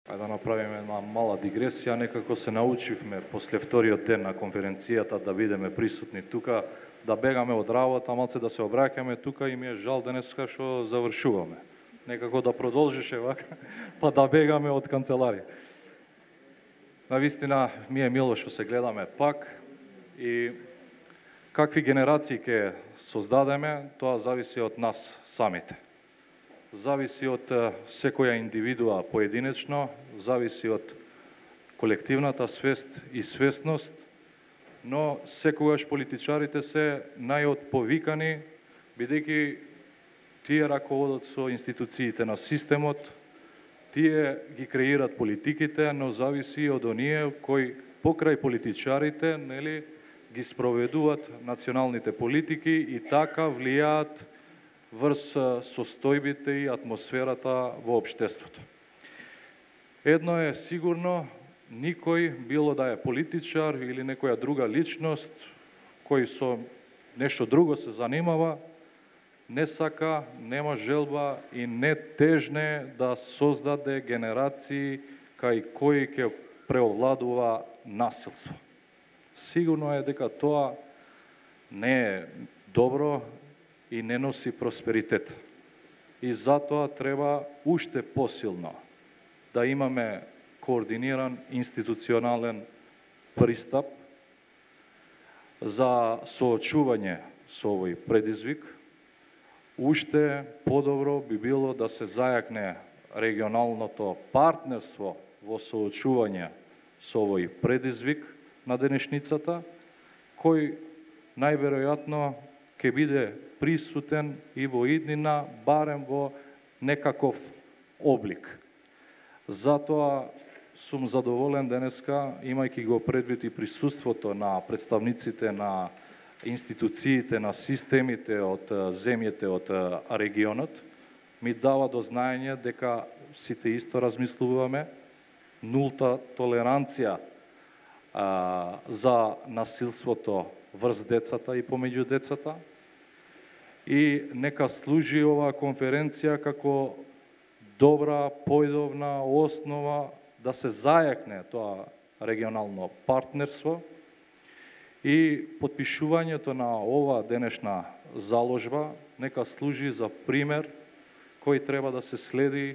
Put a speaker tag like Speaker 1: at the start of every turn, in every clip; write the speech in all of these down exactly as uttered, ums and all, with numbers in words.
Speaker 1: Ајде да направиме една мала дигресија, некако се научивме после вториот ден на конференцијата да бидеме присутни тука, да бегаме од работа, малце да се обраќаме тука и ми е жал денеска што завршуваме. Некако да продолжише вака, па да бегаме од канцеларија. Навистина ми е мило што се гледаме пак и какви генерации ќе создадеме, тоа зависи од нас самите. Зависи од секоја индивидуа поединечно, зависи од колективната свест и свесност, но секогаш политичарите се најотповикани, бидејќи тие раководат со институциите на системот, тие ги креират политиките, но зависи од оние кои покрај политичарите, нели, ги спроведуваат националните политики и така влијаат врз состојбите и атмосферата во општеството. Едно е сигурно, никој, било да е политичар или некоја друга личност, кој со нешто друго се занимава, не сака, нема желба и не тежне да создаде генерации кај кои ќе преовладува насилство. Сигурно е дека тоа не е добро и не носи просперитет. И затоа треба уште посилно да имаме координиран институционален пристап за соочување со овој предизвик. Уште подобро би било да се зајакне регионалното партнерство во соочување со овој предизвик на денешницата, кој најверојатно ќе биде присутен и во иднина, барем во некаков облик. Затоа сум задоволен денеска, имајќи го предвид и присуството на представниците на институциите, на системите од земјите од регионот, ми дава до знаење дека сите исто размислуваме, нулта толеранција а, за насилството врз децата и помеѓу децата, и нека служи оваа конференција како добра појдовна основа да се зајакне тоа регионално партнерство и потпишувањето на ова денешна заложба нека служи за пример кој треба да се следи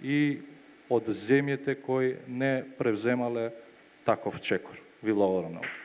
Speaker 1: и од земјите кои не превземале таков чекор. Ви благодарам.